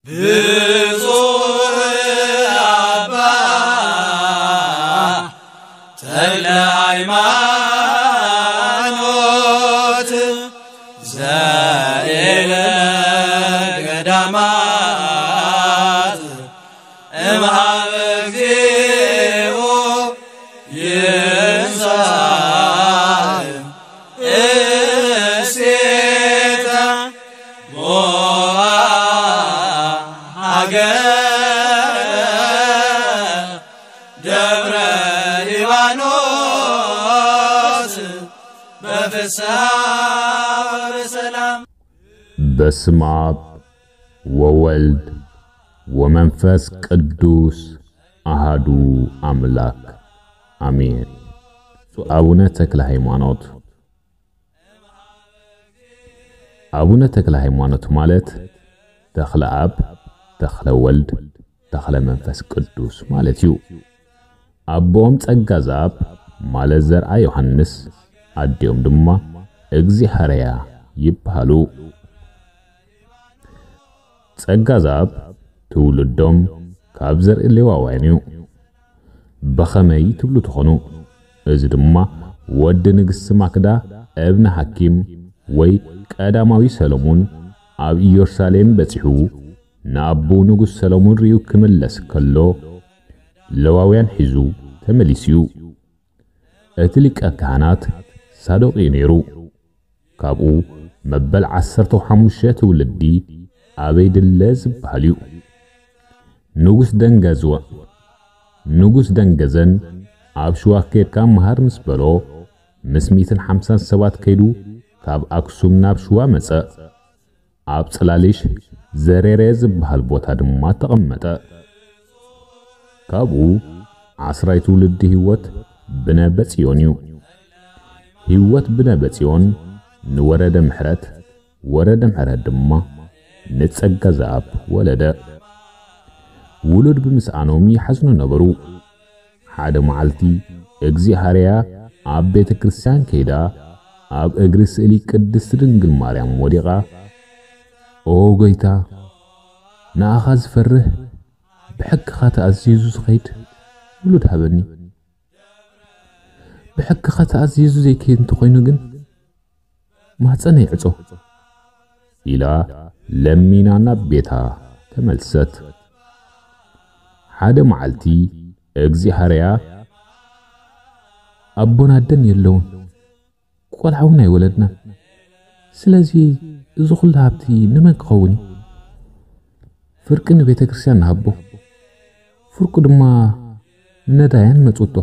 ብፁዕ ኣባ ተክለ ሃይማኖት ዘኢለ ገዳማት እምሃበ እግዚኦ ይንሳእ እሴተ ሞዓ ሃገር ደብረ ሊባኖስ በፍስሐ ወበሰላም። በስመ አብ ወወልድ ወመንፈስ ቅዱስ አሃዱ አምላክ አሜን። ብፁዕ አቡነ ተክለ ሃይማኖት። አቡነ ተክለ ሃይማኖት ማለት ተክለ አብ፣ ተክለ ወልድ፣ ተክለ መንፈስ ቅዱስ ማለት እዩ። ኣቦኦም ጸጋ ዘኣብ ማለት ዘርኣ ዮሃንስ፣ ኣዲኦም ድማ እግዚኣብሃርያ ይበሃሉ። ጸጋ ዘኣብ ትውልዶም ካብ ዘርኢ ሌዋውያን እዩ። ብኸመይ ትብሉ ትኾኑ? እዚ ድማ ወዲ ንግስቲ ማክዳ እብነ ሓኪም ወይ ቀዳማዊ ሰሎሙን ኣብ ኢየሩሳሌም በጺሑ ንኣቦኡ ንጉስ ሰሎሙን ርእዩ ክምለስ ከሎ ለዋውያን ሒዙ ተመሊሱ እዩ። እቲ ሊቀ ካህናት ሳዶቅ እዩ ነይሩ። ካብኡ መበል ዓሰርተ ሓሙሽተ ትውልዲ ኣበይ ድለ ዝበሃል እዩ። ንጉስ ደንገዝወ ንጉስ ደንገዘን ኣብ ሽዋ ከድካ መሃር ምስ በሎ ምስ ሚእትን ሓምሳን ሰባት ከይዱ ካብ ኣክሱም ናብ ሽዋ መጸ። ኣብ ጽላሊሽ ዘሬሬ ዝበሃል ቦታ ድማ ተቐመጠ። ካብኡ ዓስራይ ትውልዲ ህይወት ብነ በጽዮን እዩ። ህይወት ብነ በጽዮን ንወረደ ምሕረት፣ ወረደ ምሕረት ድማ ንጸጋ ዘኣብ ወለደ። ውሉድ ብምስኣኖም ይሓዝኑ ነበሩ። ሓደ መዓልቲ እግዚኣብሃርያ ኣብ ቤተ ክርስቲያን ከይዳ ኣብ እግሪ ስእሊ ቅድስቲ ድንግል ማርያም ወዲቓ፣ "ኦ ጎይታ፣ ንኣኻ ዝፈርህ ብሕግኻ ተኣዚዙ ዝኸይድ ውሉድ ሃበኒ። ብሕግኻ ተኣዚዙ ዘይከይድ እንተኾይኑ ግን ማህፀነይ ዕጾ" ኢላ ለሚና ናብ ቤታ ተመልሰት። ሓደ መዓልቲ እግዚኣብሃርያ ኣቦን ኣደን የለውን፣ ቆልዓ እውን ኣይወለድናን። ስለዚ እዚ ኩሉ ሃብቲ ንመን ክኸውን እዩ? ፍርቂ ንቤተ ክርስቲያን ንሃቦ፣ ፍርቁ ድማ ንነዳያን መጽውቶ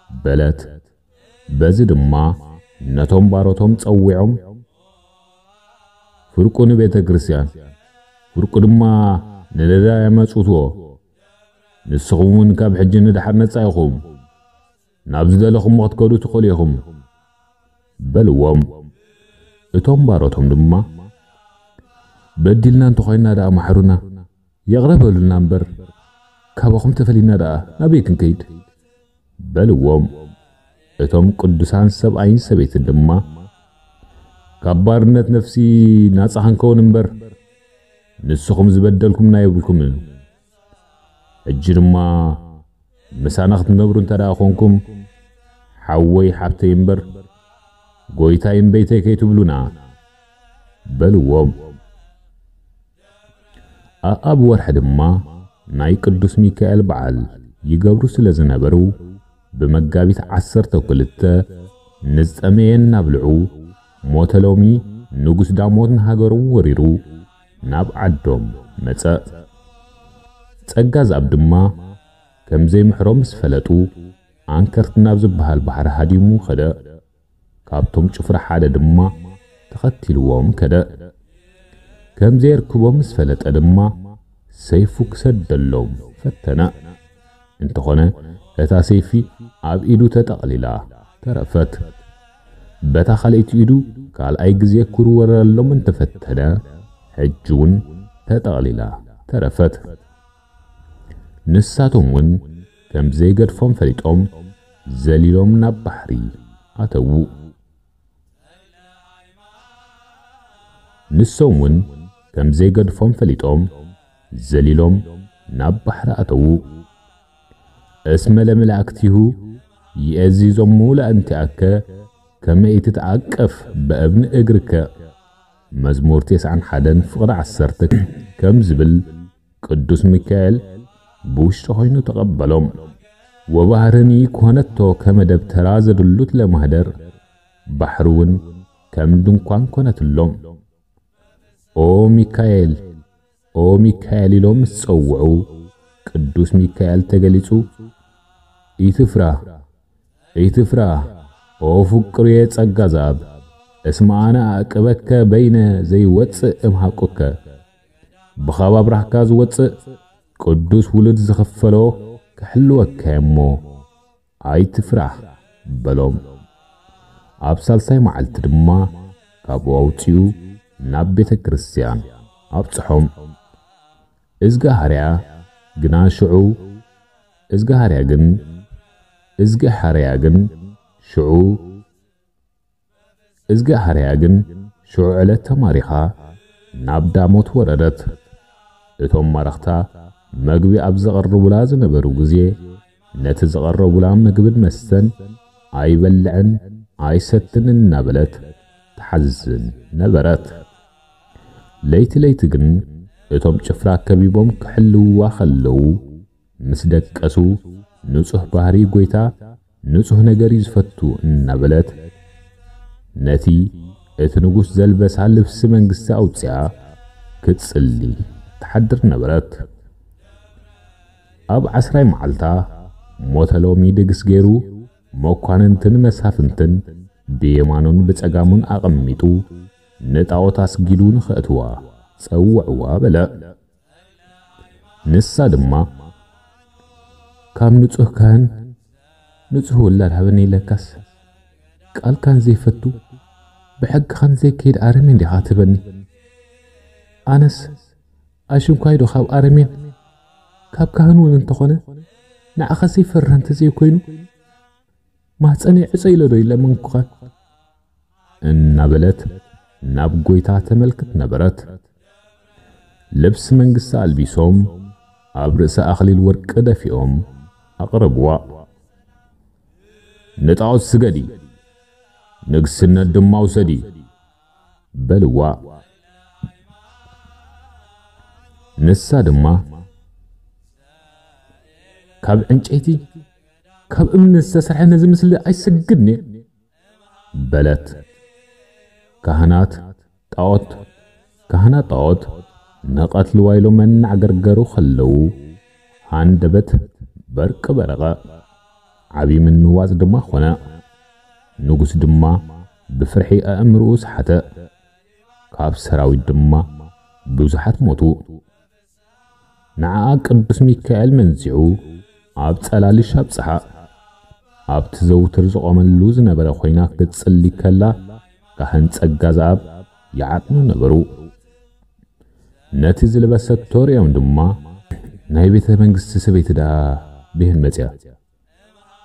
በለት። በዚ ድማ ነቶም ባሮቶም ጸዊዖም፣ ፍርቁ ንቤተ ክርስቲያን፣ ፍርቁ ድማ ንነዳያን መጽውትዎ። ንስኹም እውን ካብ ሕጂ ንድሓር ነጻ ኢኹም። ናብ ዝደለኹምዎ ክትከዱ ትኽእሉ ኢኹም በልዎም። እቶም ባሮቶም ድማ፣ በዲልና እንተኾይንና ደኣ ማሕሩና፣ ይቕረ በሉልና እምበር፣ ካባኹም ተፈሊና ደኣ ናበይ ክንከይድ በልዎም። እቶም ቅዱሳን ሰብኣይን ሰበይትን ድማ፣ ካብ ባርነት ነፍሲ ናጻ ክንከውን እምበር፣ ንስኹም ዝበደልኩምና የብልኩምን። ሕጂ ድማ ምሳና ክትነብሩ እንተ ደኣ ኾንኩም፣ ሓወይ ሓብተይ እምበር፣ ጎይታይ እምበይተይ ከይትብሉና በልዎም። ኣኣብ ወርሒ ድማ ናይ ቅዱስ ሚካኤል በዓል ይገብሩ ስለ ዝነበሩ፣ ብመጋቢት ዓሰርተ ክልተ ንዝጠመየ እናብልዑ፣ ሞተ ሎሚ ንጉስ ዳሞት ንሃገሮም ወሪሩ ናብ ዓዶም መጸ። ጸጋ ዘኣብ ድማ ከም ዘይምሕሮ ምስ ፈለጡ፣ ኣንከርት ናብ ዝበሃል ባሕሪ ሃዲሙ ከደ። ካብቶም ጭፍራ ሓደ ድማ ተኸቲልዎም ከደ። ከም ዘየርክቦም ምስ ፈለጠ ድማ ሰይፉ ክሰደሎም ፈተነ። እንተኾነ እታ ሰይፊ ኣብ ኢዱ ተጠቕሊላ ተረፈት። በታ ካልኣይቲ ኢዱ ካልኣይ ግዜ ክውርወረሎም እንተፈተነ፣ ሕጂ እውን ተጠቕሊላ ተረፈት። ንሳቶም እውን ከም ዘይገድፎም ፈሊጦም ዘሊሎም ናብ ባሕሪ ኣተዉ። ንሶም እውን ከም ዘይገድፎም ፈሊጦም ዘሊሎም ናብ ባሕሪ ኣተዉ። እስመ ለመላእክቲሁ ይእዝዞሙ ለእንቲኣከ ከመ ኢትትዓቀፍ በእብኒ እግርከ። መዝሙር ተስዓን ሓደን ፍቕዲ ዓሰርተ ከም ዝብል ቅዱስ ሚካኤል ብውሽጢ ኮይኑ ተቐበሎም። ወባህርኒ ኮነቶ ከመ ደብተራ ዘድሉት ለማህደር፣ ባሕሪ እውን ከም ድንኳን ኮነትሎም። ኦ ሚካኤል፣ ኦ ሚካኤል ኢሎም ምስ ጸውዑ፣ ቅዱስ ሚካኤል ተገሊጹ፣ "ኢትፍራህ፣ ኢትፍራህ፣ ኦ ፍቅሩየ ጸጋ ዘኣብ፣ እስመ ኣነ ኣዕቅበከ በይነ ዘይወጽእ እምሃቁከ። ብኻብ ኣብራህካ ዝወጽእ ቅዱስ ውሉድ ዝኽፈሎ ክሕልወካ እየ እሞ፣ ኣይትፍራህ" በሎም። ኣብ ሳልሳይ መዓልቲ ድማ ካብኡ ኣውጺኡ ናብ ቤተ ክርስቲያን ኣብጽሖም። እዝጋሃርያ ግና ሽዑ፣ እዝጋሃርያ ግን፣ እዝጋሃርያ ግን ሽዑ፣ እዝጋሃርያ ግን ሽዑ ዕለት ተማሪኻ ናብ ዳሞት ወረደት። እቶም ማረኽታ መግቢ ኣብ ዘቐርቡላ ዝነበሩ ግዜ፣ ነቲ ዝቐረቡላ ምግብን መስተን ኣይበልዕን ኣይሰትን እናበለት ትሓዝን ነበረት። ለይቲ ለይቲ ግን እቶም ጭፍራ ከቢቦም ክሕልውዋ ከለዉ፣ ምስ ደቀሱ፣ "ንጹህ ባህሪ ጎይታ ንጹህ ነገር እዩ ዝፈቱ" እናበለት፣ ነቲ እቲ ንጉስ ዘልበሳ ልብሲ መንግስቲ ኣውጺኣ ክትጽሊ ትሓድር ነበረት። ኣብ ዓስራይ መዓልታ ሞተ ሎሚ ድግስ ገይሩ፣ መኳንንትን መሳፍንትን ብየማኑን ብጸጋሙን ኣቐሚጡ፣ ንጣዖት ኣስጊዱ ንኸእትዋ ጸውዕዋ በለ። ንሳ ድማ፣ "ካብ ንጹህ ካህን ንጹህ ውላድ ሃበኒ ኢለካስ፣ ቃልካን ዘይፈቱ፣ ብሕግኻን ዘይከይድ ኣረሜን ዲኻ ትህበኒ? ኣነስ ኣሽንኳይ ዶ ካብ ኣረሜን፣ ካብ ካህን እውን እንተኾነ፣ ንዓኻ ዘይፈርህ እንተዘይኮይኑ፣ ማህፀነይ ዕፀ ኢለ ዶ ይለመንኩኻ?" እናበለት ናብ ጎይታ ተመልክት ነበረት። ልብሲ መንግስቲ ኣልቢሶም፣ ኣብ ርእሳ ኣኽሊል ወርቂ ደፊኦም ኣቕረብዋ። "ንጣዖት ስገዲ፣ ንግስነት ድማ ውሰዲ" በልዋ። ንሳ ድማ፣ "ካብ ዕንጨይቲ፣ ካብ እምኒ ዝተሰርሐ ነዚ ምስሊ ኣይሰግድን እየ" በለት። ካህናት ጣዖት፣ ካህናት ጣዖት ንቐትልዋ ኢሎም መናዕገርገሩ ከለዉ፣ ሃንደበት በርቂ በረቐ፣ ዓቢ ምንዋጽ ድማ ኾነ። ንጉስ ድማ ብፍርሒ ኣእምርኡ ሰሓተ። ካብ ሰራዊት ድማ ብዙሓት ሞቱ። ንዓኣ ቅዱስ ሚካኤል መንዚዑ ኣብ ጸላልሽ ኣብጽሓ። ኣብቲ ዘውትር ዝቖመሉ ዝነበረ ኮይና ክትጽሊ ከላ፣ ካህን ጸጋ ዘኣብ ይዓጥኑ ነበሩ። ነቲ ዝለበሰቶ ርእዮም ድማ፣ "ናይ ቤተ መንግስቲ ሰበይቲ ደኣ ብሄን መጽያ?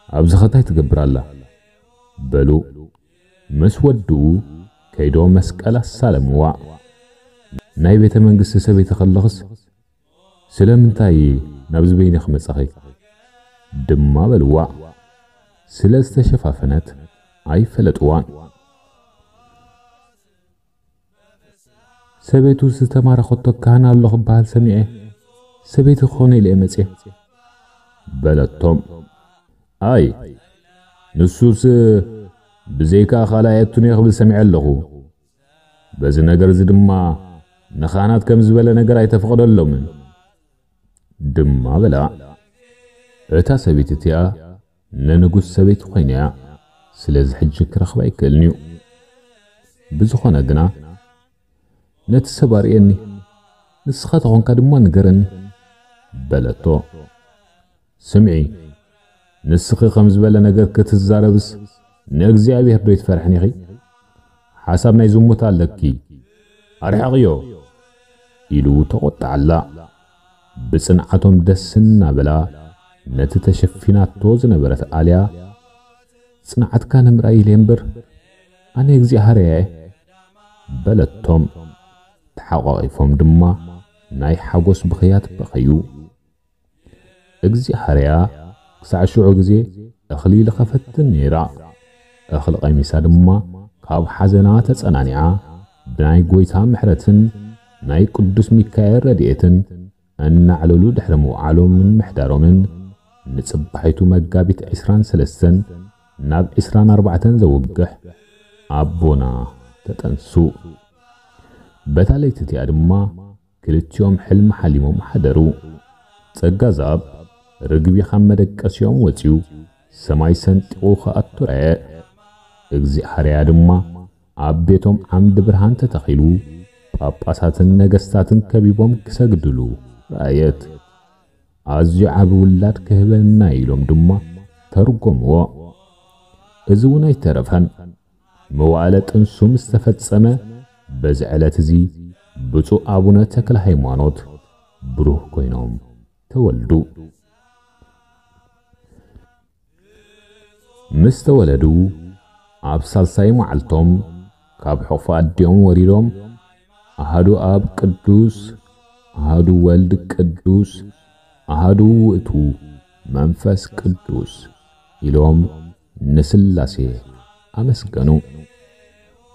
ኣብዚ ኸ እንታይ ትገብር ኣላ?" በሉ። ምስ ወድኡ ከይዶ መስቀል ኣሳለምዋ። "ናይ ቤተ መንግስቲ ሰበይቲ ከለኽስ ስለምንታይ ናብዚ በይንኺ መጻኺ?" ድማ በልዋ። ስለ ዝተሸፋፈነት ኣይፈለጥዋን። "ሰበይቱ ዝተማረኸቶ ካህን ኣሎ ክበሃል ሰሚዐ፣ ሰበይቲ ክኾነ ኢለ እየ መጽየ" በለቶም። "ኣይ፣ ንሱስ ብዘይካ ካልኣየቱን እየ ክብል ሰሚዐ ኣለኹ። በዚ ነገር እዚ ድማ ንኻህናት ከም ዝበለ ነገር ኣይተፈቕደሎምን" ድማ በላ። እታ ሰበይቲ እቲኣ ንንጉስ ሰበይቲ ኮይና እያ፣ ስለዚ ሕጂ ክረኽባ ኣይክእልን እዩ። ብዝኾነ ግና፣ "ነቲ ሰብ ኣርእየኒ፣ ንስኻ ተኾንካ ድማ ንገረኒ" በለቶ። "ስምዒ፣ ንስኺ ከም ዝበለ ነገር ክትዛረብስ ንእግዚኣብሔር ዶ ይትፈርሕን ኢኺ? ሓሳብ ናይ ዝሙት ኣለኪ፣ ኣርሕቕዮ" ኢሉ ተቖጥዓላ። ብጽንዓቶም ደስ እናበላ ነቲ ተሸፊናቶ ዝነበረት ኣልያ፣ "ጽንዓትካ ንምርኣይ ኢለ እምበር፣ ኣነ እግዚኣብሔር እየ" በለቶም። ተሓቋቒፎም ድማ ናይ ሓጎስ ብኽያት በኸዩ። እግዚኣብሔር ክሳዕ ሽዑ ግዜ እኽሊ ልኸፈትን ነይራ። እኽሊ ቀሚሳ ድማ ካብ ሓዘና ተጸናኒዓ፣ ብናይ ጐይታ ምሕረትን ናይ ቅዱስ ሚካኤል ረድኤትን እናዕለሉ ድሕሪ ምውዓሎምን ምሕዳሮምን፣ ንጽባሒቱ መጋቢት ዕስራን ሰለስተን ናብ ዕስራን ኣርባዕተን ዘውግሕ ኣቦና ተጠንሱ። በታ ለይቲ እቲኣ ድማ ክልቲኦም ሕልሚ ሓሊሞም ሓደሩ። ጸጋ ዘኣብ ርግቢ ካብ መደቀሲኦም ወጺኡ ሰማይ ሰንጢቑ ክኣቱ ረኣየ። እግዚኣብሔር ድማ ኣብ ቤቶም ዓምዲ ብርሃን ተተኺሉ፣ ጳጳሳትን ነገስታትን ከቢቦም ክሰግድሉ ረኣየት። ኣዝዩ ዓቢ ውላድ ክህበና ኢሎም ድማ ተርጎምዎ። እዚ እውን ኣይተረፈን። መዋዕለ ጥንሱ ምስ ተፈጸመ፣ በዚ ዕለት እዚ ብፁዕ ኣቡነ ተክለ ሃይማኖት ብሩህ ኮይኖም ተወልዱ። ምስ ተወለዱ ኣብ ሳልሳይ መዓልቶም ካብ ሕቑፊ ኣዲኦም ወሪዶም፣ ኣሃዱ ኣብ ቅዱስ፣ ኣሃዱ ወልድ ቅዱስ፣ ኣሃዱ ውእቱ መንፈስ ቅዱስ ኢሎም ንስላሴ ኣመስገኑ።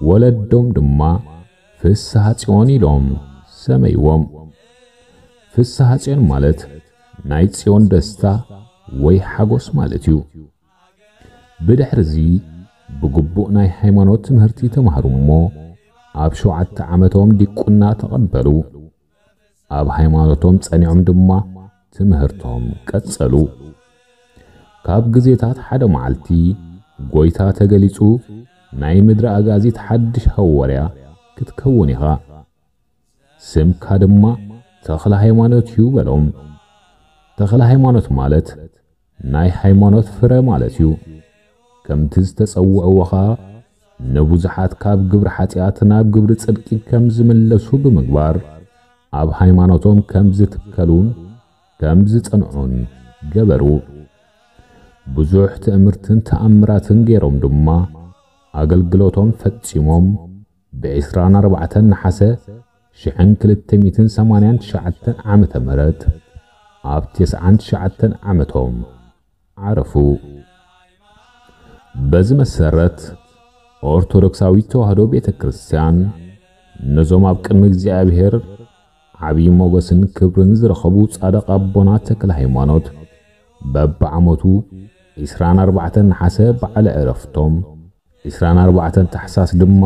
ወለዶም ድማ ፍስሐ ጽዮን ኢሎም ሰመይዎም። ፍስሐ ጽዮን ማለት ናይ ጽዮን ደስታ ወይ ሓጎስ ማለት እዩ። ብድሕርዚ ብግቡእ ናይ ሃይማኖት ትምህርቲ ተማህሩ እሞ፣ ኣብ ሸውዓተ ዓመቶም ዲቁና ተቐበሉ። ኣብ ሃይማኖቶም ጸኒዖም ድማ ትምህርቶም ቀጸሉ። ካብ ግዜታት ሓደ መዓልቲ ጐይታ ተገሊጹ፣ ናይ ምድሪ ኣጋዚት ሓድሽ ሃዋርያ ክትከውን ኢኻ፣ ስምካ ድማ ተኽለ ሃይማኖት እዩ በሎም። ተኽለ ሃይማኖት ማለት ናይ ሃይማኖት ፍረ ማለት እዩ። ከምቲ ዝተጸውዕዎ ኸኣ ንብዙሓት ካብ ግብሪ ሓጢኣት ናብ ግብሪ ጽድቂ ከም ዝምለሱ ብምግባር፣ ኣብ ሃይማኖቶም ከም ዝትከሉን ከም ዝጸንዑን ገበሩ። ብዙሕ ትእምርትን ተኣምራትን ገይሮም ድማ ኣገልግሎቶም ፈጺሞም፣ ብዕስራን ኣርባዕተን ነሓሰ ሽሕን ክልተ ሚእትን ሰማንያን ትሽዓተን ዓመተ ምህረት ኣብ ተስዓን ትሽዓተን ዓመቶም ዓረፉ። በዚ መሰረት ኦርቶዶክሳዊት ተዋህዶ ቤተ ክርስቲያን ነዞም ኣብ ቅድሚ እግዚኣብሔር ዓብዪ ሞገስን ክብርን ዝረኸቡ ጻድቕ ኣቦና ተክለ ሃይማኖት በብዓመቱ ዕስራን ኣርባዕተን ነሓሰ በዓለ ዕረፍቶም፣ ዕስራን ኣርባዕተን ታሕሳስ ድማ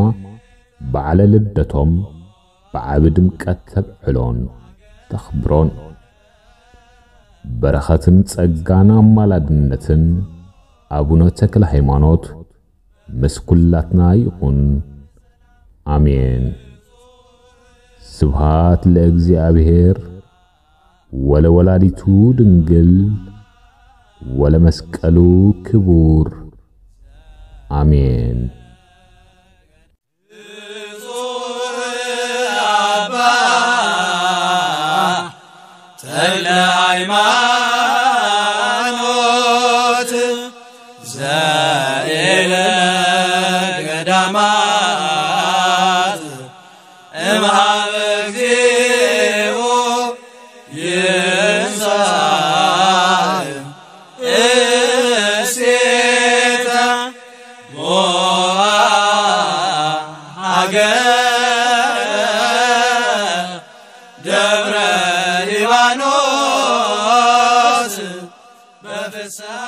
በዓለ ልደቶም ብዓቢ ድምቀት ተብዕሎን ተኽብሮን። በረኸትን ጸጋን ኣማላድነትን ኣቡነ ተክለ ሃይማኖት ምስ ኩላትና ይኹን። ኣሜን። ስብሃት ለእግዚኣብሔር ወለወላዲቱ ድንግል ወለመስቀሉ ክቡር። ኣሜን። ተክለ ሃይማኖት ዘኢለ ገዳማት እምሃበ እግዚኦ ይንሳእ እሴተ ሞዓ ሃገረ ደብረ ሊባኖስ በፍስሐ